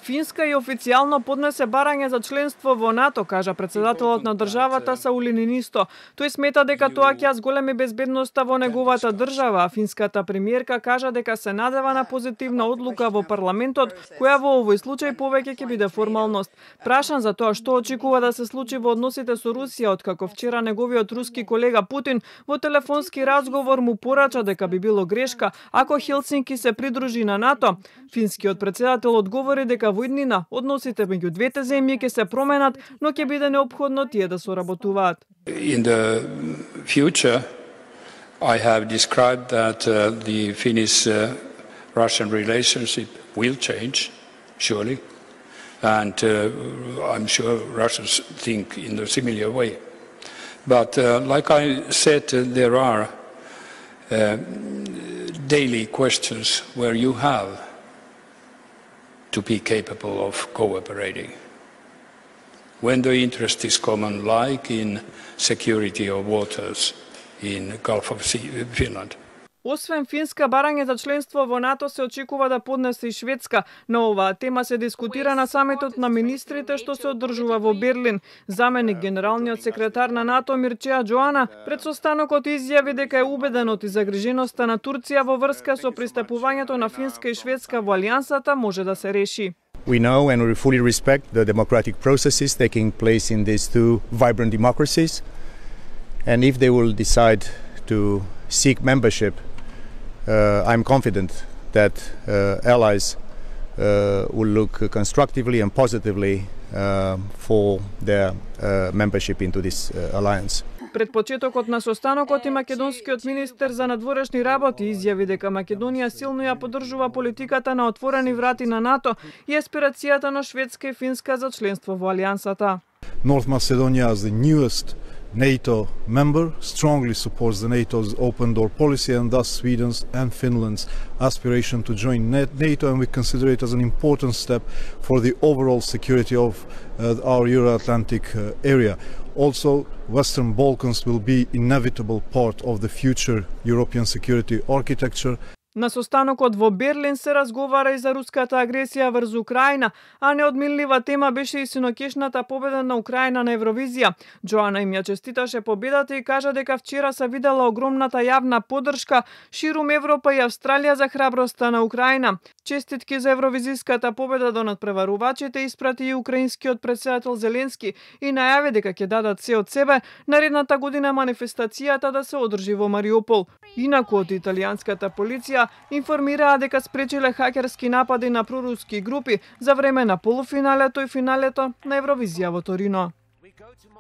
Финска и официјално поднесе барање за членство во НАТО, кажа председателот на државата Саули Нинисто. Тој смета дека тоа ќе зголеми безбедноста во неговата држава, а финската премиерка кажа дека се надева на позитивна одлука во парламентот, која во овој случај повеќе ќе биде формалност. Прашан за тоа што очекува да се случи во односите со Русија, откако вчера неговиот руски колега Путин во телефонски разговор му порача дека би било грешка ако Хелсинки се придружи на НАТО, финскиот председател одговори дека во иднина односите меѓу двете земји ќе се променат, но ќе биде неопходно тие да соработуваат. In the future, I have described that the Finnish-Russian relationship will change, surely, and I'm sure Russians think in a similar way. But like I said, there are daily questions where you have to be capable of cooperating. When the interest is common, like in security of waters in Gulf of Finland. Освен Финска, барање за членство во НАТО се очекува да поднесе и Шведска. На оваа тема се дискутира на самитот на министрите што се одржува во Берлин. Заменик генералниот секретар на НАТО Мирчеа Джоана пред состанокот изјави дека е убеден од загриженоста на Турција во врска со пристапувањето на Финска и Шведска во алијансата може да се реши. We know and we fully respect the democratic processes taking place in these two vibrant democracies. And if they will decide to seek membership, I'm confident that allies will look constructively and positively for their membership into this alliance. Пред почетокот на состанокот и македонскиот министер за надворешни работи изјави дека Македонија силно ја поддржува политиката на отворени врати на НАТО и аспирацијата на Шведска и Финска за членство во алијансата. North Macedonia as the newest NATO member strongly supports the NATO's open door policy and thus Sweden's and Finland's aspiration to join NATO, and we consider it as an important step for the overall security of our Euro-Atlantic area. Also, Western Balkans will be an inevitable part of the future European security architecture. На состанокот во Берлин се разговара и за руската агресија врз Украина, а неодминлива тема беше и синокешната победа на Украина на Евровизија. Джоана им ја честиташе победата и кажа дека вчера се видела огромната јавна поддршка ширум Европа и Австралија за храброста на Украина. Честитки за евровизиската победа до надпреварувачите испрати и украинскиот председател Зеленски и најави дека ќе дадат се од себе наредната година манифестацијата да се одржи во Мариупол. Инаку од италијанската полиција информираа дека спречиле хакерски напади на проруски групи за време на полуфиналето и финалето на Евровизија во Торино.